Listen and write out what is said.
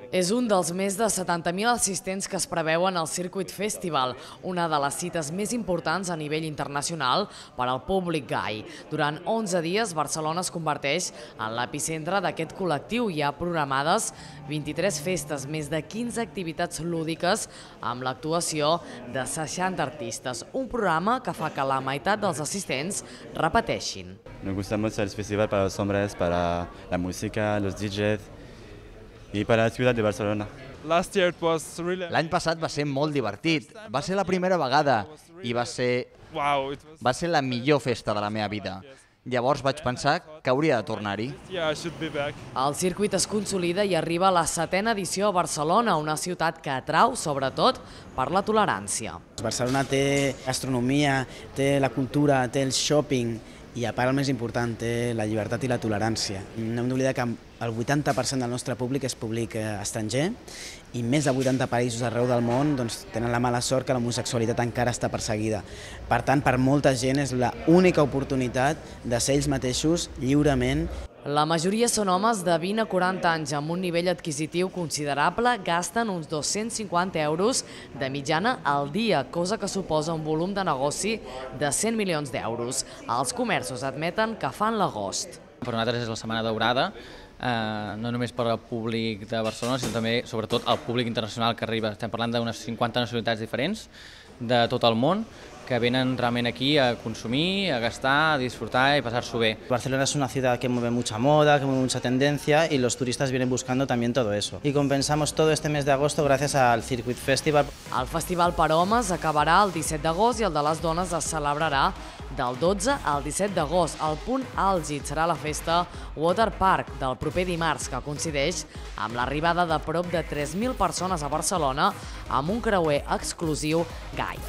És un dels més de 70.000 assistents que es preveuen al Circuit Festival, una de les cites més importants a nivell internacional per al públic gai. Durant 11 dies, Barcelona es converteix en l'epicentre d'aquest col·lectiu. Hi ha programades 23 festes, més de 15 activitats lúdiques amb l'actuació de 60 artistes. Un programa que fa que la meitat dels assistents repeteixin. Nos gusta mucho el festival para los hombres, para la música, los DJs y para la ciudad de Barcelona. L'any passat va ser molt divertit, va ser la primera vegada i va ser la millor festa de la meva vida. Llavors vaig pensar que hauria de tornar-hi. El circuit es consolida i arriba a la 7a edició a Barcelona, una ciutat que atrau sobretot per la tolerància. Barcelona té gastronomia, té la cultura, té el shopping i a part el més important, té la llibertat i la tolerància. No hem d'oblidar que el 80% del nostre públic és públic estranger i més de 80 països arreu del món tenen la mala sort que l'homosexualitat encara està perseguida. Per tant, per molta gent és l'única oportunitat de ser ells mateixos lliurement. La majoria són homes de 20 a 40 anys amb un nivell adquisitiu considerable, gasten uns 250 euros de mitjana al dia, cosa que suposa un volum de negoci de 100 milions d'euros. Els comerços admeten que fan l'agost. Per nosaltres és la setmana daurada, no només per al públic de Barcelona, sinó també, sobretot, al públic internacional que arriba. Estem parlant d'unes 50 nacionalitats diferents de tot el món que venen realment aquí a consumir, a gastar, a disfrutar y pasar-s'ho bé. Barcelona es una ciudad que mueve mucha moda, que mueve mucha tendencia y los turistas vienen buscando también todo eso. Y compensamos todo este mes de agosto gracias al Circuit Festival. El festival per homes acabarà el 17 d'agost i el de les dones es celebrarà del 12 al 17 d'agost. El punt àlgid serà la festa Water Park del proper dimarts, que coincideix amb l'arribada de prop de 3.000 persones a Barcelona amb un creuer exclusiu gai.